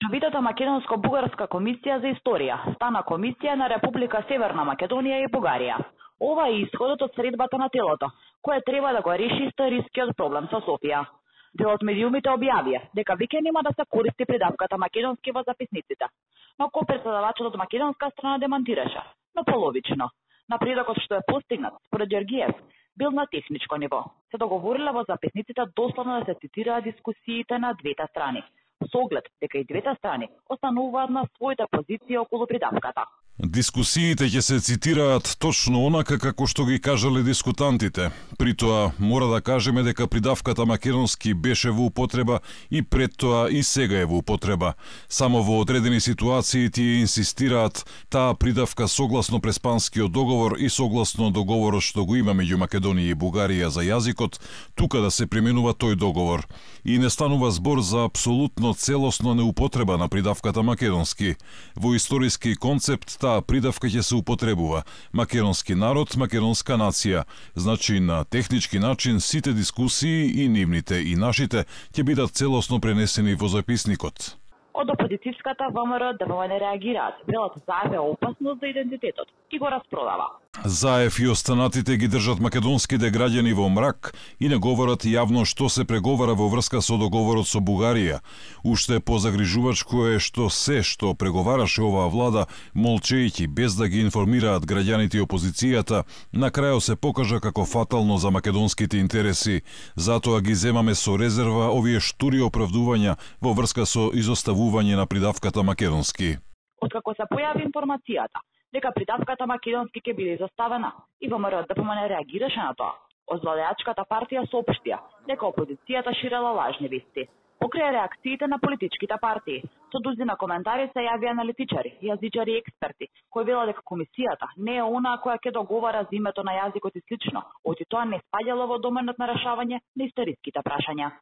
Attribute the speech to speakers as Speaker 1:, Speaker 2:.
Speaker 1: Меѓувидата Македонско-бугарска комисија за историја стана комисија на Република Северна Македонија и Бугарија. Ова е исходот од средбата на телото, кое треба да го реши историскиот проблем со Софија. Дел од медиумите објавија дека веќе нема да се користи придавката македонски во записниците, но ко-претседавачот од македонска страна демантираше, но половично. Напредокот што е постигнат, според Ѓоргиев, бил на техничко ниво. Се договориле во записниците дословно да се цитираат дискусиите на двете страни, со оглед дека и двете страни остануваат на своите позиции околу придавката.
Speaker 2: Дискусиите ќе се цитираат точно онака како што ги кажале дискутантите. При тоа мора да кажеме дека придавката македонски беше во употреба и пред тоа и сега е во употреба. Само во одредени ситуации тие инсистираат таа придавка согласно Преспанскиот договор и согласно договорот што го има меѓу Македонија и Бугарија за јазикот, тука да се применува тој договор. И не станува збор за апсолутно целосно неупотреба на придавката македонски. Во историски концепт таа придавка ќе се употребува. Македонски народ, македонска нација. Значи на технички начин сите дискусии и нивните и нашите ќе бидат целосно пренесени во записникот.
Speaker 1: Од опозицијската ВМРО ДПМН реагираат, велат Заев е опасност за идентитетот и го распродава.
Speaker 2: Заев и останатите ги држат македонските граѓани во мрак и не говорат јавно што се преговара во врска со договорот со Бугарија. Уште позагрижувачко е што се што преговараше оваа влада, молчејќи без да ги информираат граѓаните и опозицијата, на крајот се покажа како фатално за македонските интереси. Затоа ги земаме со резерва овие штури оправдувања во врска со изоставување на придавката македонски.
Speaker 1: Откако се појави информацијата дека придавката македонски ќе биде изоставена, и ВМРО ДПМН реагираше на тоа. Од владеачката партија соопштија дека опозицијата ширела лажни вести. Покрај реакциите на политичките партии, со дузина коментари се јави аналитичари, јазичари и експерти, кои велат дека комисијата не е онаа која ќе договара за името на јазикот и слично, оти тоа не спаѓало во доменот на решавање на историските прашања.